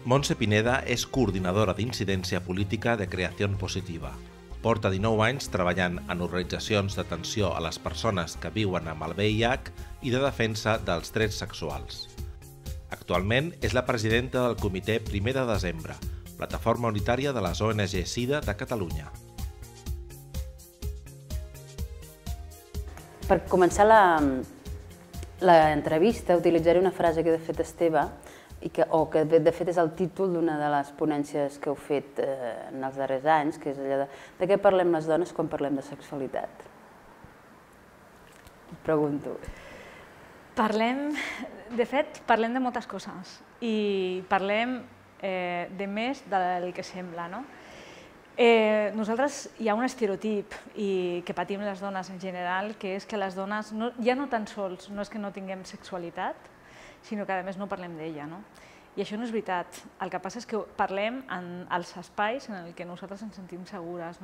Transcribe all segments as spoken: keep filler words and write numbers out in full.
Montse Pineda és coordinadora d'incidència política de Creació Positiva. Porta dinou anys treballant en organitzacions d'atenció a les persones que viuen amb el V I H i de defensa dels drets sexuals. Actualment és la presidenta del Comitè primer de desembre, plataforma unitària de les O N G SIDA de Catalunya. Per començar l'entrevista utilitzaré una frase que de fet Esteve, o que de fet és el títol d'una de les ponències que heu fet en els darrers anys, que és allò de de què parlem les dones quan parlem de sexualitat? Et pregunto. Parlem, de fet, parlem de moltes coses i parlem de més del que sembla, no? Nosaltres hi ha un estereotip que patim les dones en general, que és que les dones ja no tan sols no és que no tinguem sexualitat, sinó que a més no parlem d'ella. I això no és veritat. El que passa és que parlem en els espais en què nosaltres ens sentim segures.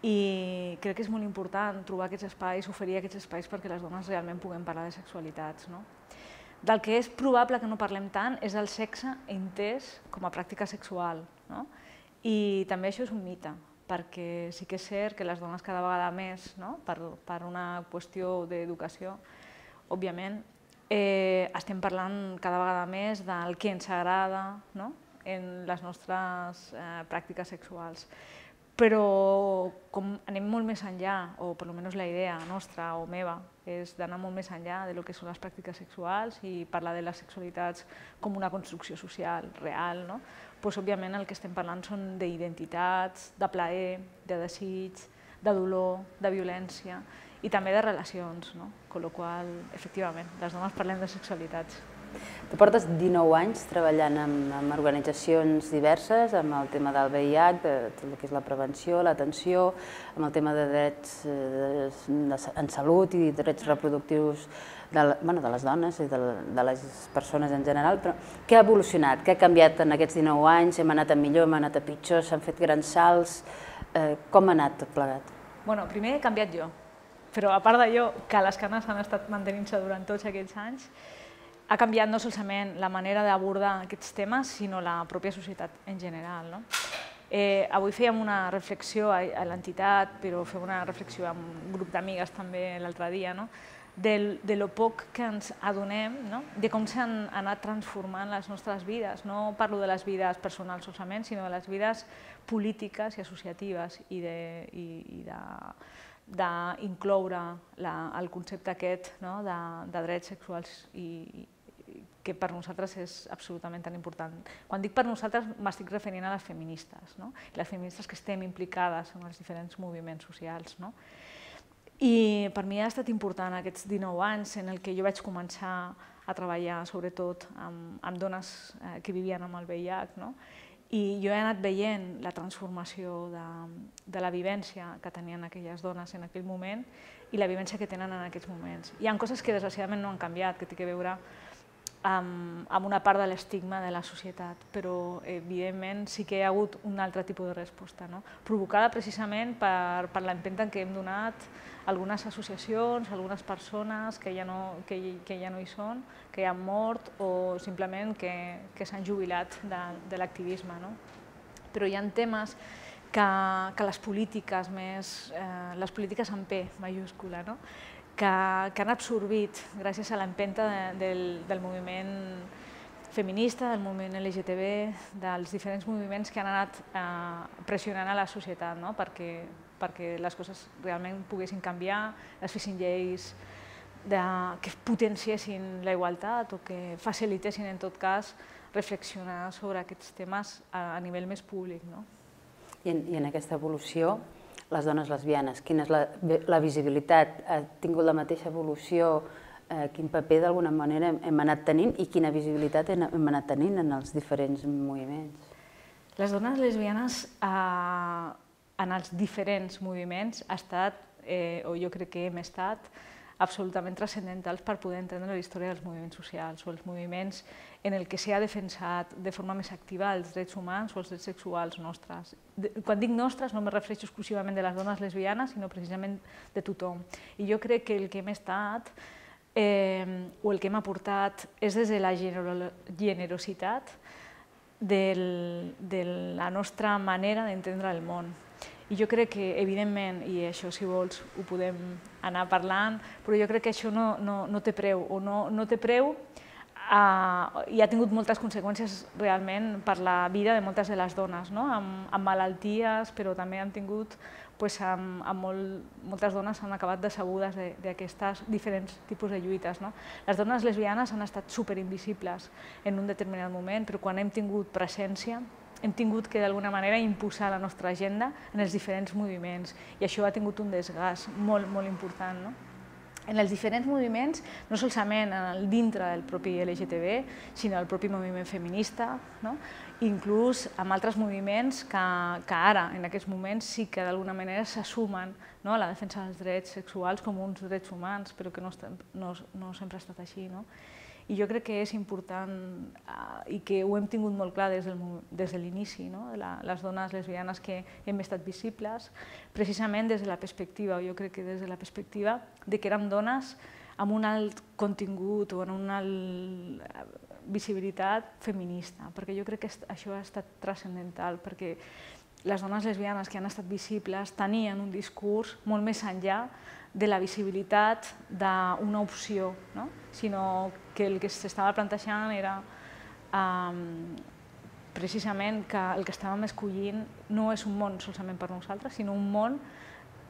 I crec que és molt important trobar aquests espais, oferir aquests espais perquè les dones realment puguem parlar de sexualitats. Del que és probable que no parlem tant és el sexe entès com a pràctica sexual. I també això és un mite, perquè sí que és cert que les dones cada vegada més, per una qüestió d'educació, òbviament, estem parlant cada vegada més del que ens agrada en les nostres pràctiques sexuals. Però com anem molt més enllà, o per almenys la idea nostra o meva, és d'anar molt més enllà del que són les pràctiques sexuals i parlar de les sexualitats com una construcció social real, doncs òbviament el que estem parlant són d'identitats, de plaer, de desig, de dolor, de violència i també de relacions, amb la qual cosa, efectivament, les dones parlem de sexualitats. Tu portes dinou anys treballant en organitzacions diverses, amb el tema del V I H, de tot el que és la prevenció, l'atenció, amb el tema de drets en salut i drets reproductius de les dones i de les persones en general. Però què ha evolucionat? Què ha canviat en aquests dinou anys? Hem anat a millor, hem anat a pitjor, s'han fet grans salts? Com ha anat tot plegat? Bé, primer he canviat jo, però a part d'allò, que les canes han estat mantenint-se durant tots aquests anys, ha canviat no solament la manera d'abordar aquests temes, sinó la pròpia societat en general. Avui fèiem una reflexió a l'entitat, però fèiem una reflexió amb un grup d'amigues també l'altre dia, de lo poc que ens adonem, de com s'han anat transformant les nostres vides. No parlo de les vides personals solament, sinó de les vides polítiques i associatives i d'incloure el concepte aquest de drets sexuals que per nosaltres és absolutament tan important. Quan dic per nosaltres m'estic referint a les feministes, les feministes que estem implicades en els diferents moviments socials. I per mi ha estat important aquests dinou anys en què jo vaig començar a treballar sobretot amb dones que vivien amb el V I H, i jo he anat veient la transformació de la vivència que tenien aquelles dones en aquell moment i la vivència que tenen en aquests moments. Hi ha coses que desgraciadament no han canviat, que té a veure amb una part de l'estigma de la societat, però evidentment sí que hi ha hagut un altre tipus de resposta, provocada precisament per l'empenta que hem donat algunes associacions, algunes persones que ja no hi són, que han mort o simplement que s'han jubilat de l'activisme. Però hi ha temes que les polítiques més, les polítiques amb P majúscula, que han absorbit gràcies a l'empenta del moviment feminista, del moviment L G T B, dels diferents moviments que han anat pressionant a la societat perquè les coses realment poguessin canviar, es fessin lleis que potenciessin la igualtat o que facilitessin, en tot cas, reflexionar sobre aquests temes a nivell més públic. I en aquesta evolució, les dones lesbianes, quina és la visibilitat? Ha tingut la mateixa evolució? Quin paper d'alguna manera hem anat tenint i quina visibilitat hem anat tenint en els diferents moviments? Les dones lesbianes en els diferents moviments ha estat, o jo crec que hem estat, absolutament transcendentals per poder entendre la història dels moviments socials o els moviments en el que s'ha defensat de forma més activa els drets humans o els drets sexuals nostres. Quan dic nostres no me refereixo exclusivament de les dones lesbianes, sinó precisament de tothom. I jo crec que el que hem estat o el que hem aportat és des de la generositat de la nostra manera d'entendre el món. I jo crec que, evidentment, i això si vols ho podem anar parlant, però jo crec que això no té preu, o no té preu i ha tingut moltes conseqüències realment per la vida de moltes de les dones, amb malalties, però també han tingut, moltes dones han acabat decebudes d'aquestes diferents tipus de lluites. Les dones lesbianes han estat superinvisibles en un determinat moment, però quan hem tingut presència hem tingut que d'alguna manera imposar la nostra agenda en els diferents moviments i això ha tingut un desgast molt, molt important. En els diferents moviments, no solament dintre del propi L G T B, sinó el propi moviment feminista, inclús amb altres moviments que ara, en aquests moments, sí que d'alguna manera s'assumen a la defensa dels drets sexuals com uns drets humans, però que no sempre ha estat així. I jo crec que és important i que ho hem tingut molt clar des de l'inici, les dones lesbianes que hem estat visibles, precisament des de la perspectiva, jo crec que des de la perspectiva de que érem dones amb un alt contingut o amb una alta visibilitat feminista, perquè jo crec que això ha estat transcendental, perquè les dones lesbianes que han estat visibles tenien un discurs molt més enllà de la visibilitat d'una opció, sinó que el que s'estava plantejant era precisament que el que estàvem escollint no és un món solament per nosaltres, sinó un món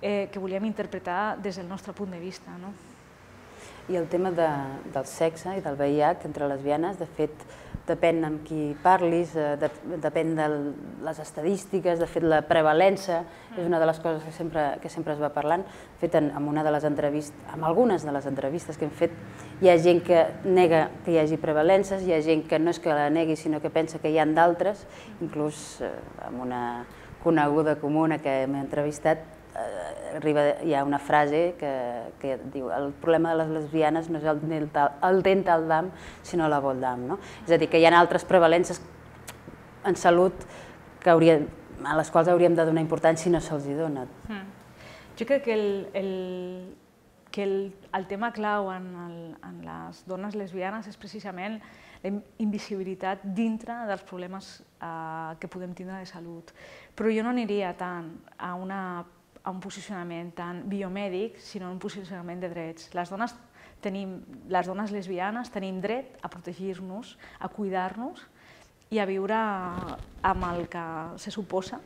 que volíem interpretar des del nostre punt de vista. I el tema del sexe i del V I H entre lesbianes, de fet, depèn amb qui parlis, depèn de les estadístiques, de fet la prevalença és una de les coses que sempre es va parlant. De fet, en una de les entrevistes, en algunes de les entrevistes que hem fet, hi ha gent que nega que hi hagi prevalences, hi ha gent que no és que la negui, sinó que pensa que hi ha d'altres, inclús amb una coneguda comuna que hem entrevistat, hi ha una frase que diu el problema de les lesbianes no és el dental dam, sinó la voldam. És a dir, que hi ha altres prevalences en salut a les quals hauríem de donar importància i no se'ls dona. Jo crec que el tema clau en les dones lesbianes és precisament la invisibilitat dintre dels problemes que podem tindre de salut. Però jo no aniria tant a una a un posicionament tan biomèdic, sinó un posicionament de drets. Les dones lesbianes tenim dret a protegir-nos, a cuidar-nos i a viure amb el que se suposa,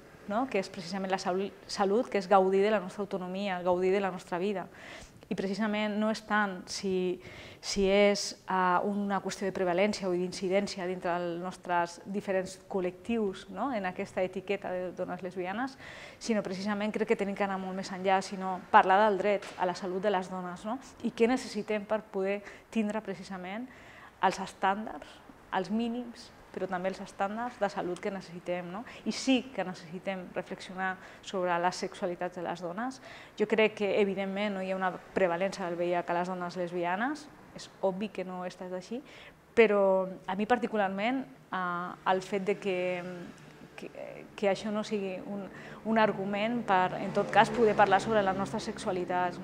que és precisament la salut, que és gaudir de la nostra autonomia, gaudir de la nostra vida. I precisament no és tant si és una qüestió de prevalència o d'incidència dintre dels nostres diferents col·lectius en aquesta etiqueta de dones lesbianes, sinó precisament crec que hem d'anar molt més enllà, sinó parlar del dret a la salut de les dones i què necessitem per poder tindre precisament els estàndards, els mínims, però també els estàndards de salut que necessitem. I sí que necessitem reflexionar sobre les sexualitats de les dones. Jo crec que, evidentment, no hi ha una prevalença del V I H a les dones lesbianes, és obvi que no ha estat així, però a mi particularment el fet que això no sigui un argument per, en tot cas, poder parlar sobre les nostres sexualitats.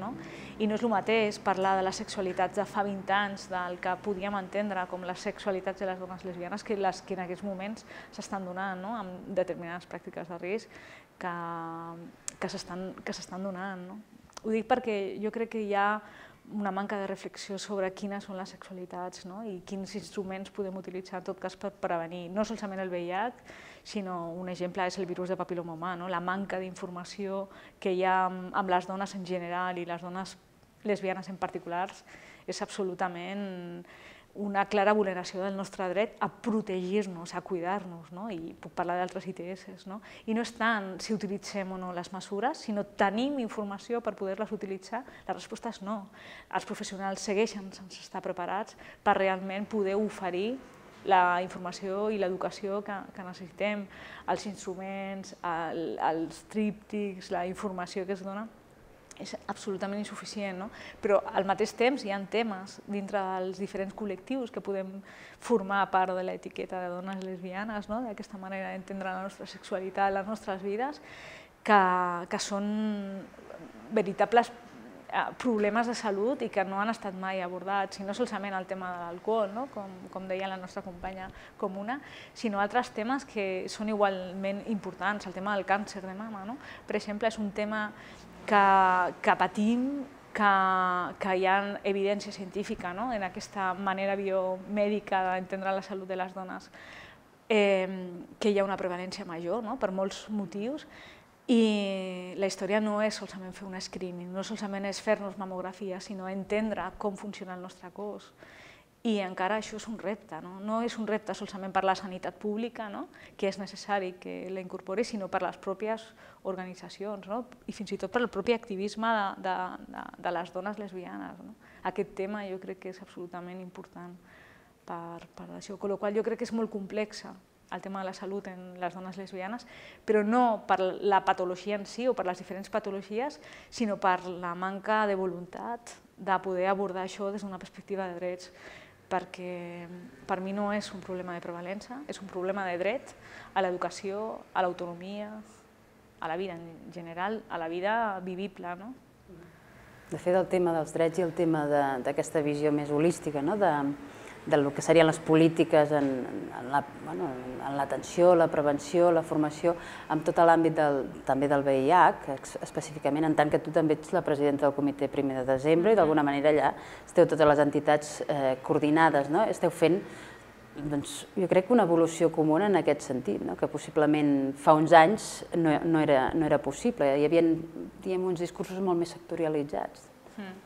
I no és el mateix parlar de les sexualitats de fa vint anys, del que podíem entendre com les sexualitats de les dones lesbianes, que les que en aquests moments s'estan donant amb determinades pràctiques de risc que s'estan donant. Ho dic perquè jo crec que hi ha una manca de reflexió sobre quines són les sexualitats i quins instruments podem utilitzar en tot cas per prevenir, no solament el V I H, sinó un exemple és el virus de papil·loma humà, la manca d'informació que hi ha amb les dones en general i les dones lesbianes en particular és absolutament una clara vulneració del nostre dret a protegir-nos, a cuidar-nos, i puc parlar d'altres I T S. I no és tant si utilitzem o no les mesures, sinó tenim informació per poder-les utilitzar. La resposta és no. Els professionals segueixen sense estar preparats per realment poder oferir la informació i l'educació que necessitem, els instruments, els tríptics, la informació que es dona, és absolutament insuficient, però al mateix temps hi ha temes dintre dels diferents col·lectius que podem formar part de l'etiqueta de dones lesbianes, d'aquesta manera d'entendre la nostra sexualitat, les nostres vides, que són veritables problemes de salut i que no han estat mai abordats, i no solament el tema de l'alcohol, no? com, com deia la nostra companya comuna, sinó altres temes que són igualment importants, el tema del càncer de mama, no? Per exemple, és un tema que, que patim, que, que hi ha evidència científica, no? En aquesta manera biomèdica d'entendre la salut de les dones, eh, que hi ha una prevalència major, no? Per molts motius, i la història no és solament fer un screening, no solament és fer-nos mamografia, sinó entendre com funciona el nostre cos. I encara això és un repte, no? No és un repte solament per la sanitat pública, no? Que és necessari que la incorpori, sinó per les pròpies organitzacions, no? I fins i tot per el propi activisme de, de, de, de les dones lesbianes, no? Aquest tema jo crec que és absolutament important per, per això, amb la qual cosa jo crec que és molt complexa el tema de la salut en les dones lesbianes, però no per la patologia en si o per les diferents patologies, sinó per la manca de voluntat de poder abordar això des d'una perspectiva de drets, perquè per mi no és un problema de prevalença, és un problema de dret a l'educació, a l'autonomia, a la vida en general, a la vida vivible. No? De fet, el tema dels drets i el tema d'aquesta visió més holística, no? de, del que serien les polítiques en, en la, bueno, en l'atenció, la prevenció, la formació, amb tot l'àmbit del, també del V I H, específicament, en tant que tu també ets la presidenta del comitè primer de desembre i d'alguna manera allà esteu totes les entitats eh, coordinades, no? Esteu fent, doncs, jo crec que una evolució comuna en aquest sentit, no? Que possiblement fa uns anys no, no, era, no era possible, hi havia, diguem, uns discursos molt més sectorialitzats. Mm.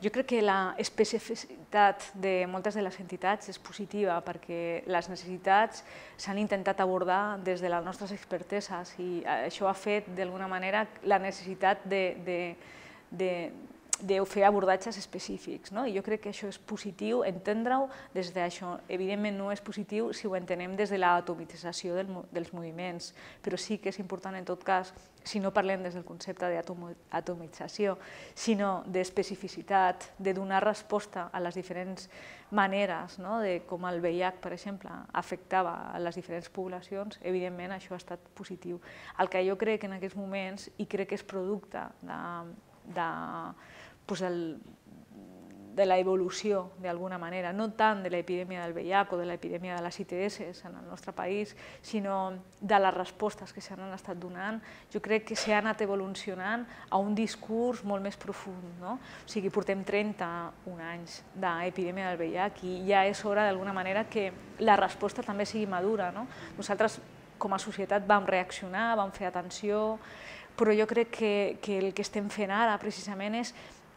Jo crec que la especificitat de moltes de les entitats és positiva perquè les necessitats s'han intentat abordar des de les nostres experteses i això ha fet d'alguna manera la necessitat de, de, de, de fer abordatges específics. No? I jo crec que això és positiu, entendre-ho des d'això. Evidentment no és positiu si ho entenem des de l'atomització del, dels moviments, però sí que és important en tot cas, si no parlem des del concepte d'atomització, sinó d'especificitat, de donar resposta a les diferents maneres, no? De com el V I H, per exemple, afectava a les diferents poblacions, evidentment això ha estat positiu. El que jo crec en aquests moments, i crec que és producte de, de, doncs el, de l'evolució, d'alguna manera, no tant de l'epidèmia del V I H o de l'epidèmia de les I T S en el nostre país, sinó de les respostes que s'han estat donant, jo crec que s'ha anat evolucionant a un discurs molt més profund. No? O sigui, portem trenta-un anys d'epidèmia del V I H i ja és hora, d'alguna manera, que la resposta també sigui madura. No? Nosaltres, com a societat, vam reaccionar, vam fer atenció, però jo crec que, que el que estem fent ara, precisament, és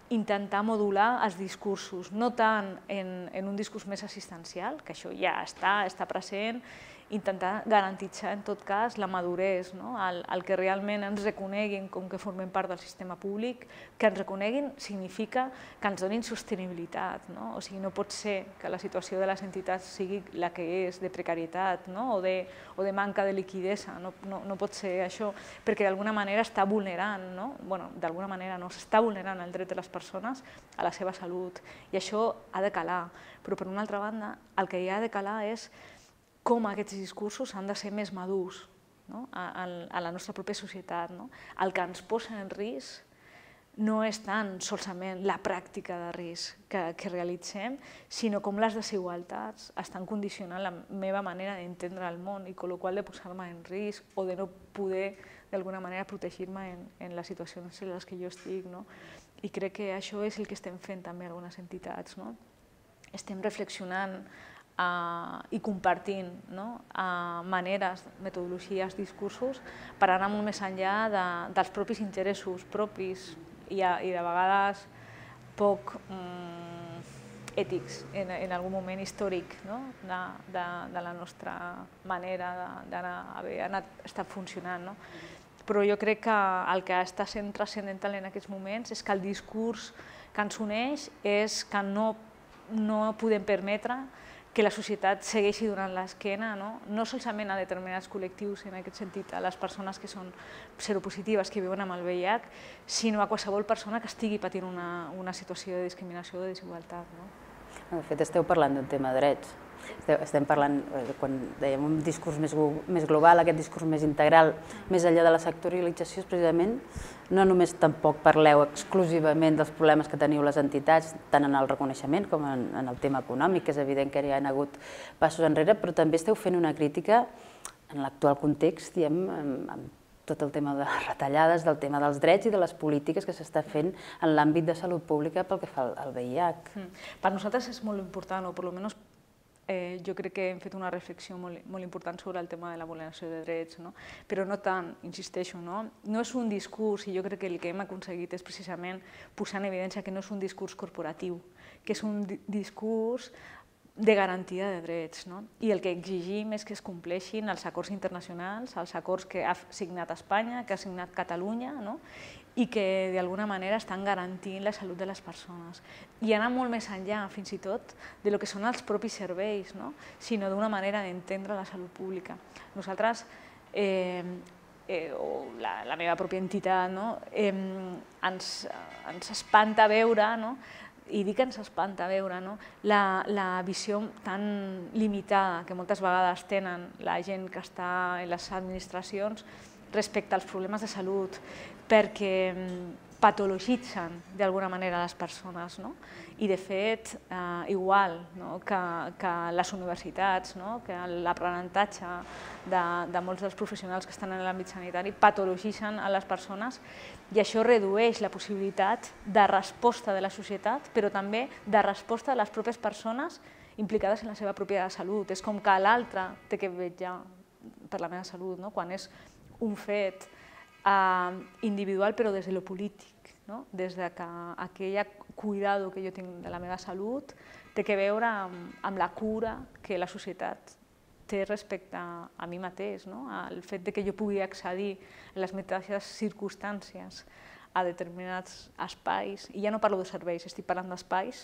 intentar modular els discursos, no tant en, en un discurs més assistencial, que això ja està, està present, intentar garantitzar en tot cas la maduresa, no? el, el que realment ens reconeguin com que formem part del sistema públic, que ens reconeguin significa que ens donin sostenibilitat, no? O sigui, no pot ser que la situació de les entitats sigui la que és, de precarietat, no? o, de, o de manca de liquidesa, no, no, no pot ser això, perquè d'alguna manera està vulnerant, no? Bueno, d'alguna manera no, s'està vulnerant el dret de les persones a la seva salut, i això ha de calar, però per una altra banda el que hi ha de calar és com aquests discursos han de ser més madurs, no? a, a la nostra pròpia societat. No? El que ens posa en risc no és tant solament la pràctica de risc que, que realitzem, sinó com les desigualtats estan condicionant la meva manera d'entendre el món i amb la qual cosa de posar-me en risc o de no poder d'alguna manera protegir-me en, en les situacions en les que jo estic. No? I crec que això és el que estem fent també algunes entitats. No? Estem reflexionant Uh, i compartint, no? uh, maneres, metodologies, discursos per anar molt més enllà de, dels propis interessos propis i, a, i de vegades poc um, ètics en, en algun moment històric, no? de, de, de la nostra manera d'haver anat, estat funcionant. No? Però jo crec que el que està sent transcendental en aquests moments és que el discurs que ens uneix és que no, no podem permetre que la societat segueixi donant l'esquena, no? no solament a determinats col·lectius, en aquest sentit, a les persones que són seropositives, que viuen amb el V I H, sinó a qualsevol persona que estigui patint una, una situació de discriminació o de desigualtat. No? De fet, esteu parlant d'un tema de drets. Estem parlant, quan dèiem un discurs més global, aquest discurs més integral, més enllà de la sectorialització, és precisament no només tampoc parleu exclusivament dels problemes que teniu les entitats, tant en el reconeixement com en el tema econòmic, que és evident que hi ha hagut passos enrere, però també esteu fent una crítica en l'actual context, diem, amb tot el tema de les retallades, del tema dels drets i de les polítiques que s'està fent en l'àmbit de salut pública pel que fa al V I H. Per nosaltres és molt important, o per almenys jo crec que hem fet una reflexió molt important sobre el tema de la vulneració de drets, però no tant, insisteixo, no és un discurs, i jo crec que el que hem aconseguit és precisament posar en evidència que no és un discurs corporatiu, que és un discurs de garantia de drets, i el que exigim és que es compleixin els acords internacionals, els acords que ha signat Espanya, que ha signat Catalunya, i que d'alguna manera estan garantint la salut de les persones. I anar molt més enllà, fins i tot, del que són els propis serveis, sinó d'una manera d'entendre la salut pública. Nosaltres, o la meva pròpia entitat, ens espanta veure, i dic que ens espanta veure la visió tan limitada que moltes vegades tenen la gent que està en les administracions respecte als problemes de salut, perquè patologitzen d'alguna manera les persones. I de fet, igual que les universitats, que l'aprenentatge de molts dels professionals que estan en l'àmbit sanitari patologitzen a les persones, i això redueix la possibilitat de resposta de la societat, però també de resposta de les pròpies persones implicades en la seva pròpia salut. És com que l'altre té que vetllar per la meva salut, quan és un fet individual però des de lo polític, des que aquell cuidado que jo tinc de la meva salut té que veure amb la cura que la societat té respecte a mi mateix, el fet que jo pugui accedir en les mateixes circumstàncies a determinats espais, i ja no parlo de serveis, estic parlant d'espais,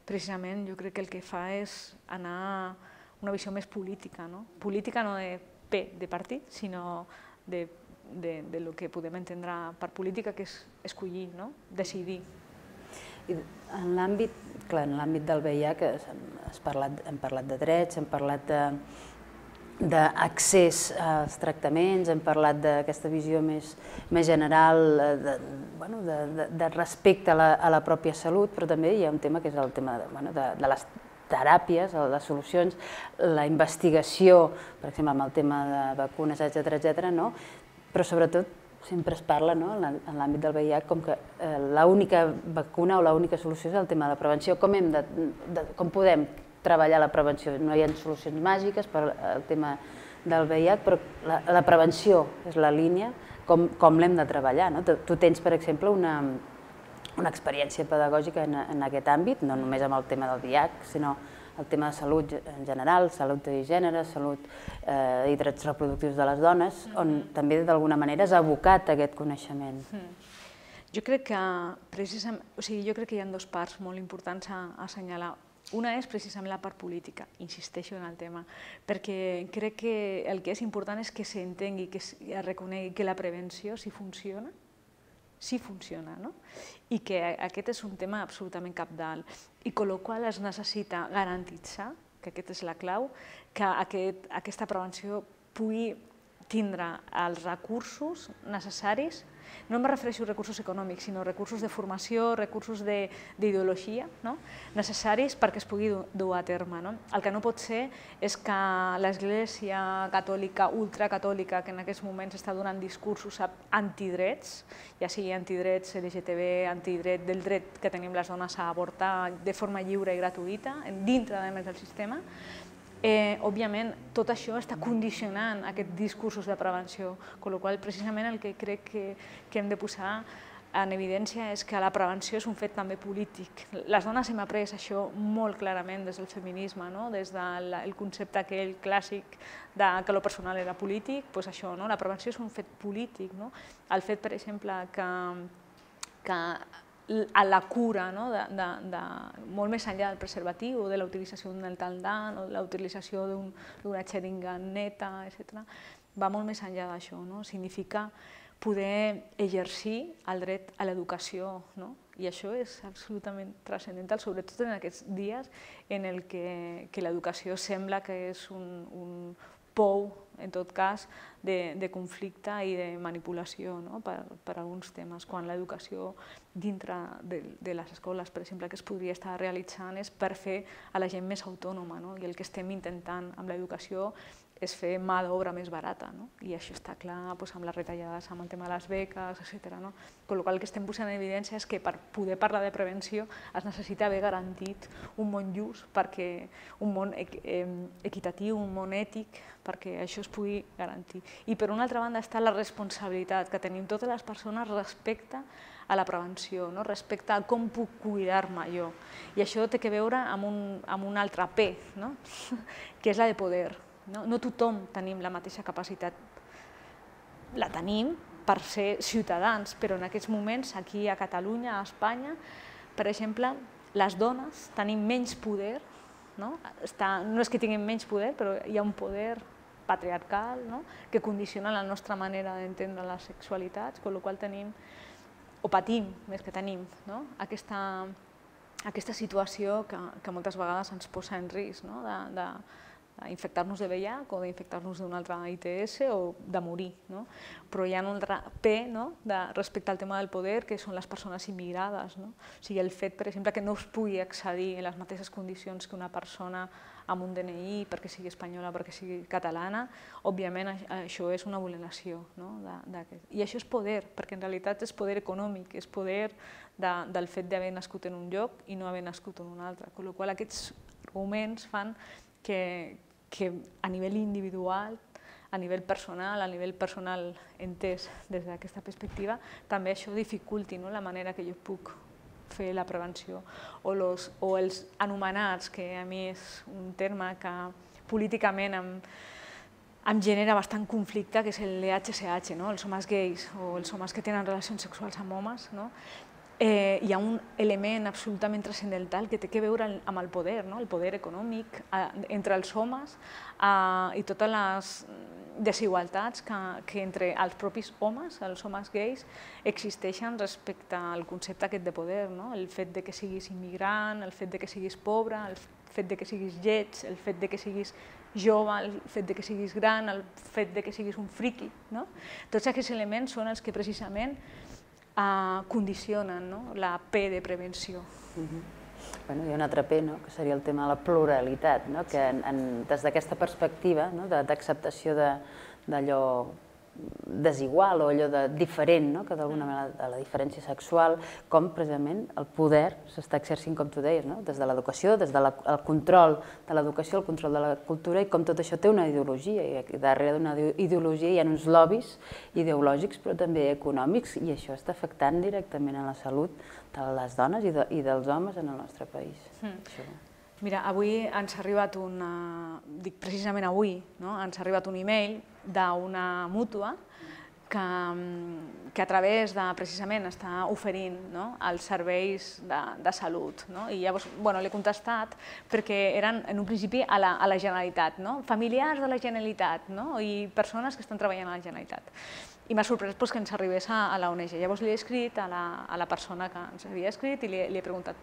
precisament jo crec que el que fa és anar a una visió més política, política no de P de partit, sinó de del que podem entendre per política, que és escollir, decidir. En l'àmbit del V I H hem parlat de drets, hem parlat d'accés als tractaments, hem parlat d'aquesta visió més general de respecte a la pròpia salut, però també hi ha un tema que és el tema de les teràpies, les solucions, la investigació, per exemple, amb el tema de vacunes, etcètera, etcètera, però sobretot sempre es parla en l'àmbit del V I H com que l'única vacuna o l'única solució és el tema de la prevenció. Com podem treballar la prevenció? No hi ha solucions màgiques per al tema del V I H, però la prevenció és la línia, com l'hem de treballar. Tu tens, per exemple, una experiència pedagògica en aquest àmbit, no només amb el tema del V I H, sinó el tema de salut en general, salut i gènere, salut i drets reproductius de les dones, on també d'alguna manera has abocat aquest coneixement. Jo crec que precisament, o sigui, jo crec que hi ha dues parts molt importants a assenyalar. Una és precisament la part política, insisteixo en el tema, perquè crec que el que és important és que s'entengui, que es reconegui que la prevenció, si funciona, sí funciona, i que aquest és un tema absolutament cabdal, i amb la qual cosa es necessita garantitzar, que aquesta és la clau, que aquesta prevenció pugui tindre els recursos necessaris, no em refereixo a recursos econòmics, sinó recursos de formació, recursos d'ideologia necessaris perquè es pugui dur a terme. El que no pot ser és que l'Església catòlica, ultracatòlica, que en aquests moments està donant discursos antidrets, ja sigui antidrets L G T B, antidret del dret que tenim les dones a avortar de forma lliure i gratuïta, dintre del sistema, òbviament, tot això està condicionant aquests discursos de prevenció, amb la qual cosa precisament el que crec que hem de posar en evidència és que la prevenció és un fet també polític. Les dones hem après això molt clarament des del feminisme, des del concepte aquell clàssic que lo personal era polític, doncs això, la prevenció és un fet polític. El fet, per exemple, que a la cura, molt més enllà del preservatiu, de la utilització d'un taldant o de la utilització d'una xeringa neta, etcètera, va molt més enllà d'això. Significa poder exercir el dret a l'educació, no? I això és absolutament transcendental, sobretot en aquests dies en el que, que l'educació sembla que és un, un pou, en tot cas, de, de conflicte i de manipulació, no? per, per alguns temes, quan l'educació dintre de, de les escoles, per exemple, que es podria estar realitzant és per fer a la gent més autònoma, no? I el que estem intentant amb l'educació és fer mà d'obra més barata, no? I això està clar doncs, amb les retallades, amb el tema de les beques, etcètera. No? Con la qual cosa el que estem posant en evidència és que per poder parlar de prevenció es necessita haver garantit un món just, perquè un món equitatiu, un món ètic, perquè això es pugui garantir. I per una altra banda està la responsabilitat que tenim totes les persones respecte a la prevenció, no? Respecte a com puc cuidar-me jo. I això té a veure amb un, amb un altre P, no? Que és la de poder. No, no tothom tenim la mateixa capacitat. La tenim per ser ciutadans, però en aquests moments, aquí a Catalunya, a Espanya, per exemple, les dones tenim menys poder, no? Està, no és que tinguem menys poder, però hi ha un poder patriarcal, no? Que condiciona la nostra manera d'entendre les sexualitats, amb la qual cosa tenim, o patim, més que tenim, no? aquesta, aquesta situació que, que moltes vegades ens posa en risc, no? de, de, d'infectar-nos de V I H o d'infectar-nos d'un altre I T S o de morir. No? Però hi ha un altre P, no? De, respecte al tema del poder, que són les persones immigrades. No? O sigui, el fet, per exemple, que no es pugui accedir en les mateixes condicions que una persona amb un D N I perquè sigui espanyola o perquè sigui catalana, òbviament això és una vulneració. No? De, de, I això és poder, perquè en realitat és poder econòmic, és poder de, del fet d'haver nascut en un lloc i no haver nascut en un altre. Amb la qual cosa aquests arguments fan que, que a nivell individual, a nivell personal, a nivell personal entès des d'aquesta perspectiva, també això dificulti, no? La manera que jo puc fer la prevenció. O, los, o els anomenats, que a mi és un terme que políticament em, em genera bastant conflicte, que és el H C H, no? Els homes gais o els homes que tenen relacions sexuals amb homes, no? Eh, hi ha un element absolutament transcendental que té a veure amb el poder, no? El poder econòmic eh, entre els homes eh, i totes les desigualtats que, que entre els propis homes, els homes gais, existeixen respecte al concepte aquest de poder, no? El fet de que siguis immigrant, el fet de que siguis pobre, el fet de que siguis lleig, el fet de que siguis jove, el fet de que siguis gran, el fet de que siguis un friqui, no? Tots aquests elements són els que precisament Uh, condicionen, no? La P de prevenció. Uh-huh. Bueno, hi ha un altre P, no? Que seria el tema de la pluralitat, no? Que en, en, des d'aquesta perspectiva, no? d'acceptació d'allò desigual o allò de diferent, no? Que d'alguna manera de la diferència sexual, com precisament el poder s'està exercint, com tu deies, no? Des de l'educació, des del de control de l'educació, el control de la cultura, i com tot això té una ideologia, i darrere d'una ideologia hi ha uns lobbies ideològics però també econòmics, i això està afectant directament a la salut de les dones i, de, i dels homes en el nostre país. Mm. Això. Mira, avui ens ha arribat una, dic precisament avui, no? Ens ha arribat un e-mail d'una mútua que, que a través de, precisament, està oferint, no? Els serveis de, de salut. No? I llavors, bueno, l'he contestat perquè eren, en un principi, a la, a la Generalitat, no? Familiars de la Generalitat, no? I persones que estan treballant a la Generalitat. I m'ha sorprès pues, que ens arribés a, a la O N G. Llavors li he escrit a la, a la persona que ens havia escrit i li, li he preguntat: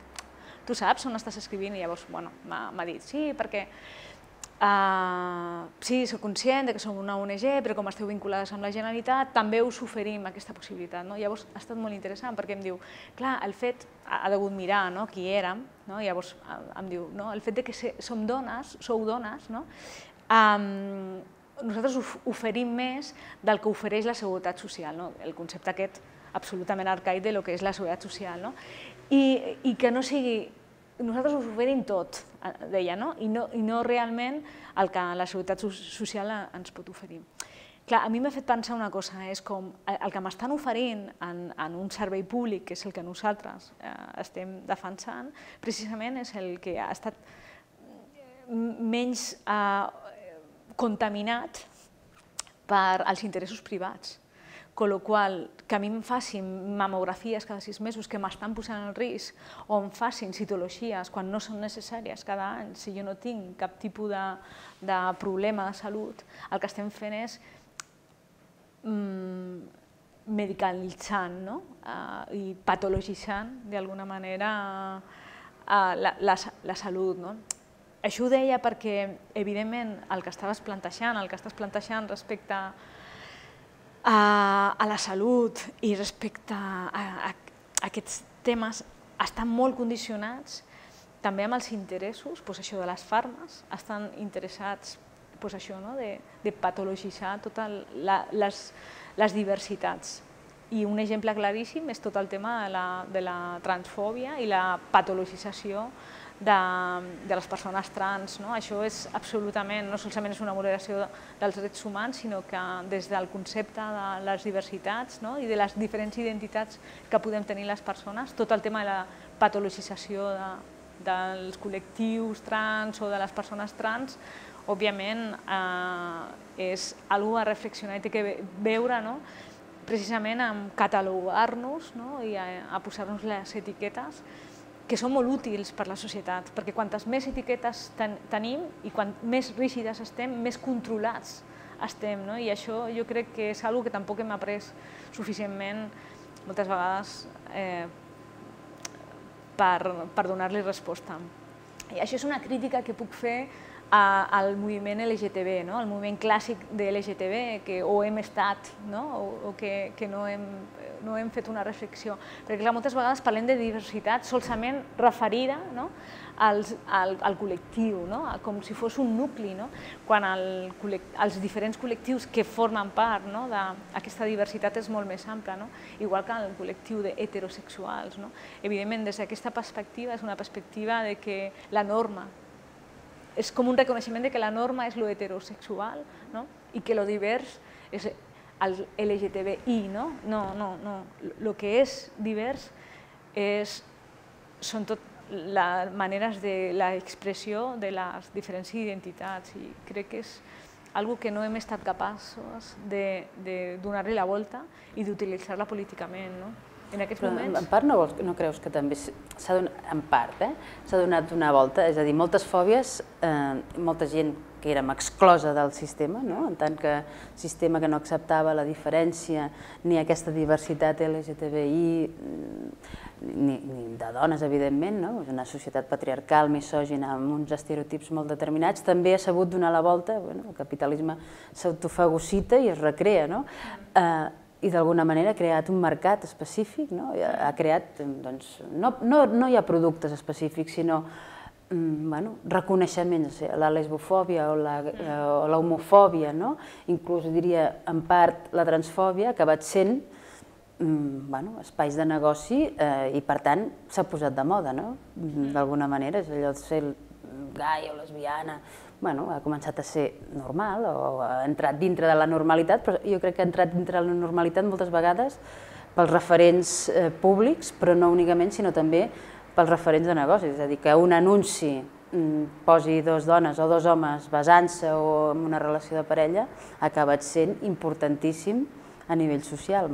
tu saps on estàs escrivint? I llavors bueno, m'ha dit, sí, perquè uh, sí, soc conscient que som una O N G, però com esteu vinculades amb la Generalitat, també us oferim aquesta possibilitat. No? Llavors ha estat molt interessant, perquè em diu, clar, el fet, ha degut mirar no? Qui érem, no? Llavors em diu, no? El fet de que som dones, sou dones, no? um, nosaltres oferim més del que ofereix la Seguretat Social, no? El concepte aquest absolutament arcaic de lo que és la Seguretat Social, no? I, i que no sigui, nosaltres us oferim tot, deia, no? I, no, i no realment el que la Seguretat Social ens pot oferir. Clar, a mi m'ha fet pensar una cosa, és com el que m'estan oferint en, en un servei públic, que és el que nosaltres eh, estem defensant, precisament és el que ha estat menys eh, contaminat per als interessos privats. Con lo qual, que a mi em facin mamografies cada sis mesos que m'estan posant en risc, o em facin citologies quan no són necessàries cada any, si jo no tinc cap tipus de, de problema de salut, el que estem fent és mm, medicalitzant, no? uh, i patologitzant d'alguna manera uh, la, la, la salut. No? Això ho deia perquè, evidentment, el que estaves plantejant, el que estàs plantejant respecte a, a la salut i respecte a, a, a aquests temes estan molt condicionats també amb els interessos, doncs això de les farmes, estan interessats doncs això, no? de, de patologitzar totes les, les diversitats. I un exemple claríssim és tot el tema de la, de la transfòbia i la patologització de, de les persones trans. No? Això és absolutament, no solament és una vulneració dels drets humans, sinó que des del concepte de les diversitats, no? i de les diferents identitats que podem tenir les persones, tot el tema de la patologització de, dels col·lectius trans o de les persones trans, òbviament eh, és una cosa a reflexionar i té que veure, no? precisament en catalogar-nos, no? i a, a posar-nos les etiquetes que són molt útils per a la societat, perquè quantes més etiquetes ten, tenim i quan més rígides estem, més controlats estem. No? I això jo crec que és una cosa que tampoc hem après suficientment moltes vegades eh, per, per donar-li resposta. I això és una crítica que puc fer a, al moviment L G T B, no? El moviment clàssic de L G T B, que o hem estat no? o, o que, que no, hem, no hem fet una reflexió. Perquè clar, moltes vegades parlem de diversitat solament referida no? als, al, al col·lectiu, no? com si fos un nucli, no? quan el, els diferents col·lectius que formen part no? d'aquesta diversitat és molt més ampla, no? igual que el col·lectiu d'heterosexuals. No? Evidentment, des d'aquesta perspectiva, és una perspectiva de que la norma és com un reconeixement de que la norma és lo heterosexual no? i que lo divers és el L G T B I. No, no, no. no. Lo que és divers és, són tot les maneres de l'expressió de les diferents identitats i crec que és algo que no hem estat capaços de, de donar-li la volta i d'utilitzar-la políticament. No? En aquests moments... En part no, vols, no creus que també s'ha donat, en part, eh, s'ha donat una volta, és a dir, moltes fòbies, eh, molta gent que érem exclosa del sistema, no? en tant que sistema que no acceptava la diferència ni aquesta diversitat L G T B I, ni, ni de dones, evidentment, no? Una societat patriarcal, misògina, amb uns estereotips molt determinats, també ha sabut donar la volta, bueno, el capitalisme s'autofagocita i es recrea, no? Eh, i d'alguna manera ha creat un mercat específic, no? ha creat, doncs, no, no, no hi ha productes específics, sinó bueno, reconeixements, la lesbofòbia o la, o la homofòbia, no? inclús diria en part la transfòbia, ha acabat sent bueno, espais de negoci eh, i per tant s'ha posat de moda, no? d'alguna manera, és allò de ser gai o lesbiana, bueno, ha començat a ser normal o ha entrat dintre de la normalitat, però jo crec que ha entrat dintre de la normalitat moltes vegades pels referents eh, públics, però no únicament, sinó també pels referents de negocis, és a dir, que un anunci mm, posi dos dones o dos homes besant-se o en una relació de parella ha acabat sent importantíssim a nivell social,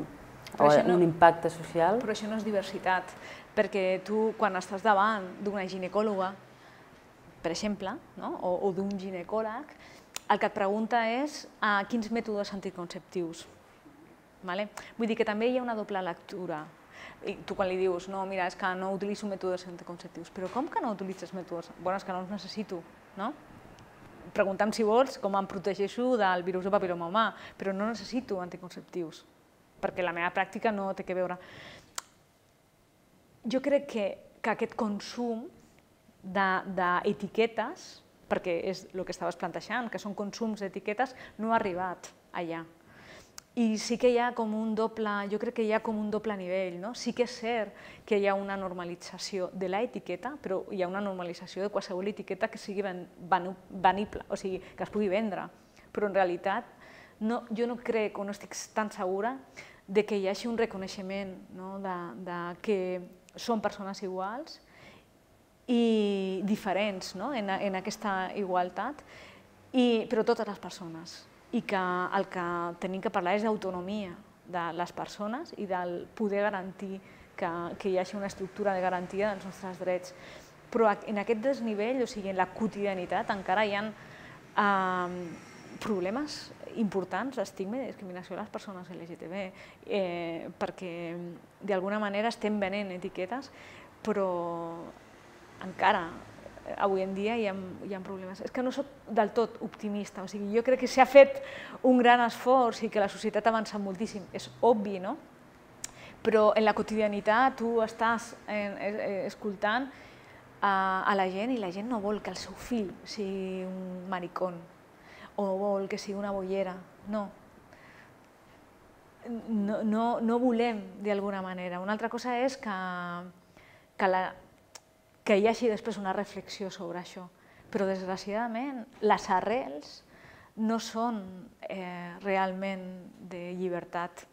o no, un impacte social. Però això no és diversitat, perquè tu quan estàs davant d'una ginecòloga, per exemple, no? o, o d'un ginecòleg, el que et pregunta és a quins mètodes anticonceptius. Vale? Vull dir que també hi ha una doble lectura. I tu quan li dius, no, mira, és que no utilitzo mètodes anticonceptius, però com que no utilitzes mètodes? Bueno, és que no els necessito, no? Pregunta'm si vols com em protegeixo del virus del papil·loma humà, però no necessito anticonceptius, perquè la meva pràctica no té que veure. Jo crec que, que aquest consum d'etiquetes, perquè és el que estaves plantejant, que són consums d'etiquetes, no ha arribat allà. I sí que hi ha com un doble, jo crec que hi ha com un doble nivell, no? Sí que és cert que hi ha una normalització de l'etiqueta, però hi ha una normalització de qualsevol etiqueta que sigui venible, o sigui, que es pugui vendre. Però en realitat, no, jo no crec o no estic tan segura de que hi hagi un reconeixement no? de, de que són persones iguals i diferents no? en, en aquesta igualtat, i, però totes les persones. I que el que tenim que parlar és d'autonomia de les persones i del poder garantir que, que hi hagi una estructura de garantia dels nostres drets. Però en aquest desnivell, o sigui, en la quotidianitat, encara hi ha eh, problemes importants d'estigma i de discriminació a les persones L G T B, perquè d'alguna manera estem venent etiquetes, però encara avui en dia hi ha problemes. És que no soc del tot optimista, o sigui, jo crec que s'ha fet un gran esforç i que la societat ha avançat moltíssim, és obvi, no? Però en la quotidianitat tu estàs escoltant a la gent i la gent no vol que el seu fill sigui un maricón o vol que sigui una bollera, no. No volem d'alguna manera. Una altra cosa és que hi hagi després una reflexió sobre això, però desgraciadament les arrels no són realment de llibertat,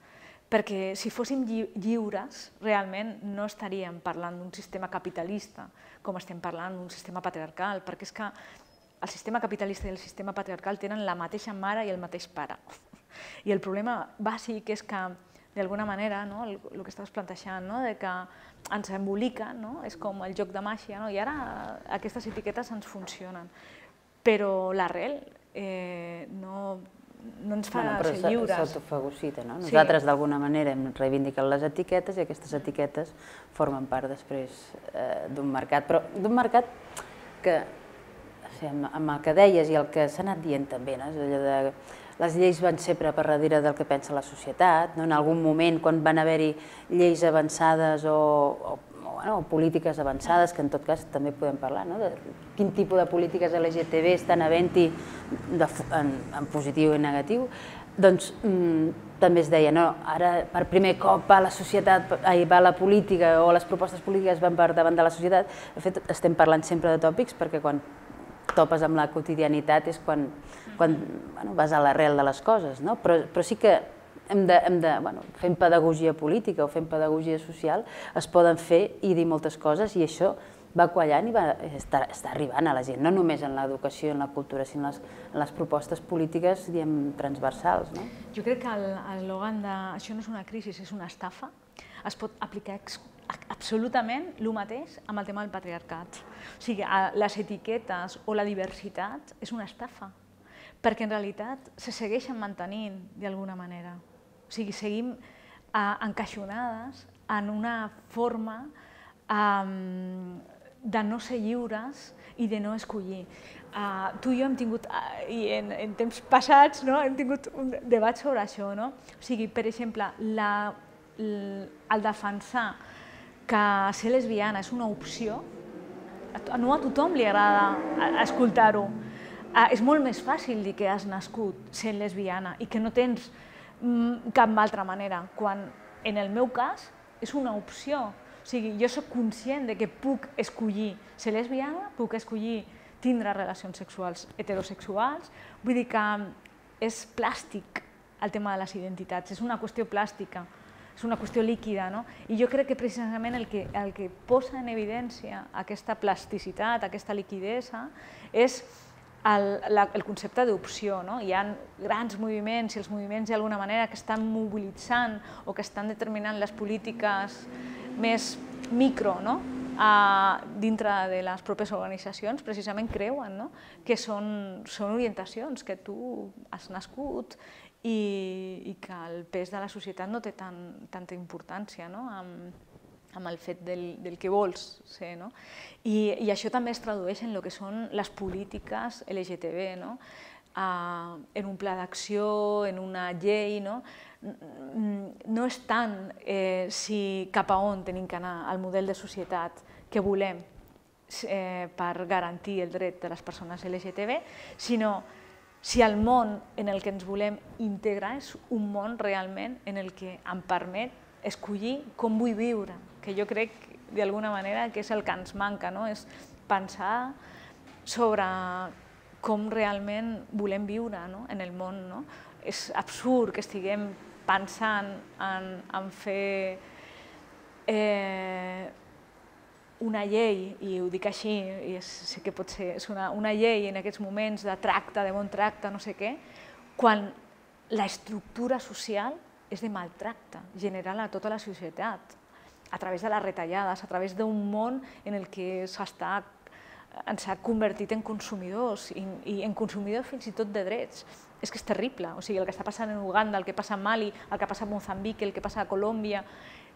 perquè si fóssim lliures, realment no estaríem parlant d'un sistema capitalista com estem parlant d'un sistema patriarcal, perquè és que el sistema capitalista i el sistema patriarcal tenen la mateixa mare i el mateix pare. I el problema bàsic és que, d'alguna manera, el que estaves plantejant, que ens emboliquen, és com el joc de màgia, i ara aquestes etiquetes ens funcionen. Però l'arrel no... no ens fa ser lliures. Però s'autofagocita, no? Nosaltres d'alguna manera hem reivindicat les etiquetes i aquestes etiquetes formen part després d'un mercat, però d'un mercat que, amb el que deies i el que s'ha anat dient també, les lleis van sempre per darrere del que pensa la societat, en algun moment quan van haver-hi lleis avançades o polítiques avançades, que en tot cas també podem parlar, de quin tipus de polítiques L G T B estan havent-hi en positiu i negatiu, doncs també es deia, no, ara per primer cop va la societat, va la política o les propostes polítiques van per davant de la societat. De fet, estem parlant sempre de tòpics perquè quan topes amb la quotidianitat és quan vas a l'arrel de les coses, però sí que hem de, fent pedagogia política o fent pedagogia social, es poden fer i dir moltes coses i això va quallant i està arribant a la gent, no només en l'educació i en la cultura, sinó en les propostes polítiques, diguem, transversals. Jo crec que l'eslògan de això no és una crisi, és una estafa, es pot aplicar absolutament el mateix amb el tema del patriarcat. O sigui, les etiquetes o la diversitat és una estafa, perquè en realitat se segueixen mantenint d'alguna manera. O sigui, seguim encaixonades en una forma de no ser lliures i de no escollir. Tu i jo hem tingut, i en temps passats, hem tingut un debat sobre això. O sigui, per exemple, el defensar que ser lesbiana és una opció, no a tothom li agrada escoltar-ho. És molt més fàcil dir que has nascut sent lesbiana i que no tens cap altra manera, quan en el meu cas és una opció. O sigui, jo soc conscient que puc escollir ser lesbiana, puc escollir tindre relacions sexuals heterosexuals, vull dir que és plàstic el tema de les identitats, és una qüestió plàstica, és una qüestió líquida, i jo crec que precisament el que posa en evidència aquesta plasticitat, aquesta liquidesa, és el concepte d'opció. Hi ha grans moviments i els moviments d'alguna manera que estan mobilitzant o que estan determinant les polítiques més micro dintre de les pròpies organitzacions, precisament creuen que són orientacions, que tu has nascut i que el pes de la societat no té tanta importància amb el fet del que vols ser. I això també es tradueix en el que són les polítiques L G T B, en un pla d'acció, en una llei. No és tant si cap a on tenim que anar el model de societat que volem per garantir el dret de les persones L G T B, sinó si el món en el que ens volem integrar és un món realment en el que em permet escollir com vull viure, que jo crec d'alguna manera que és el que ens manca, és pensar sobre com realment volem viure en el món. És absurd que estiguem pensant en fer una llei, i ho dic així, i sé que pot ser una llei en aquests moments de tracte, de bon tracte, no sé què, quan l'estructura social és de maltracte general a tota la societat, a través de les retallades, a través d'un món en el que s'està ens ha convertit en consumidors i, i en consumidors fins i tot de drets. És que és terrible, o sigui, el que està passant en Uganda, el que passa a Mali, el que passa a Moçambic, el que passa a Colòmbia,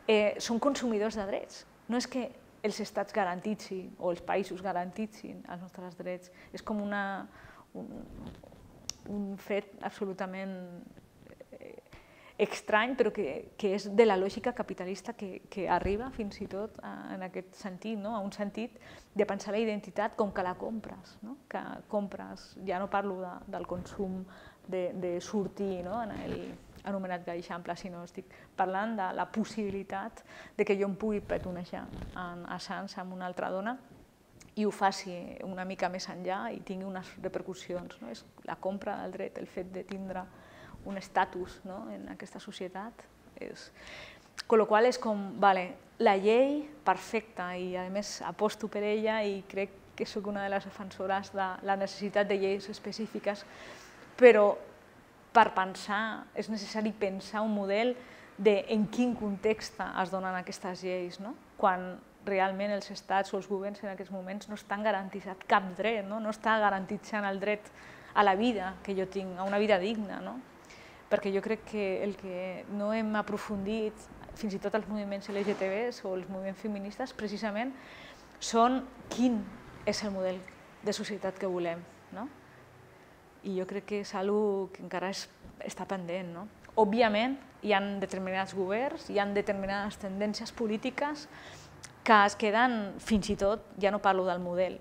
eh, són consumidors de drets. No és que els estats garantitsin o els països garantitsin els nostres drets, és com una, un, un fet absolutament estrany, però que, que és de la lògica capitalista que, que arriba fins i tot a, en aquest sentit, no? A un sentit de pensar la identitat com que la compres, no? Que compres, ja no parlo de, del consum de, de sortir, no? En el anomenat gaixample, sinó estic parlant de la possibilitat de que jo em pugui petonejar en, a Sants amb una altra dona i ho faci una mica més enllà i tingui unes repercussions, no? És la compra del dret, el fet de tindre un estatus, no? En aquesta societat. És... Con lo qual és com, vale, la llei perfecta i a més aposto per ella i crec que soc una de les defensores de la necessitat de lleis específiques, però per pensar és necessari pensar un model de en quin context es donen aquestes lleis, no? Quan realment els estats o els governs en aquests moments no estan garantitzant cap dret, no? No està garantitzant el dret a la vida que jo tinc, a una vida digna, no? Perquè jo crec que el que no hem aprofundit, fins i tot els moviments L G T Bs o els moviments feministes, precisament són quin és el model de societat que volem, no? I jo crec que és una cosa que encara és, està pendent, no? Òbviament, hi ha determinats governs, hi ha determinades tendències polítiques que es queden, fins i tot, ja no parlo del model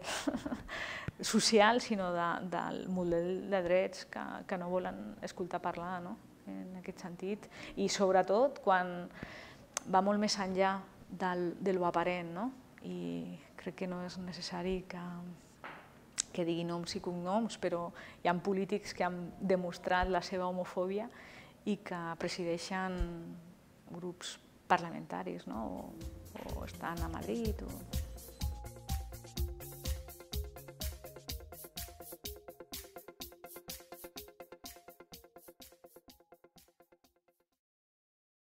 social, sinó de, del model de drets que, que no volen escoltar parlar, no? En aquest sentit. I sobretot quan va molt més enllà del, de lo aparent, no? I crec que no és necessari que, que digui noms i cognoms, però hi ha polítics que han demostrat la seva homofòbia i que presideixen grups parlamentaris, no? O, o estan a Madrid. O...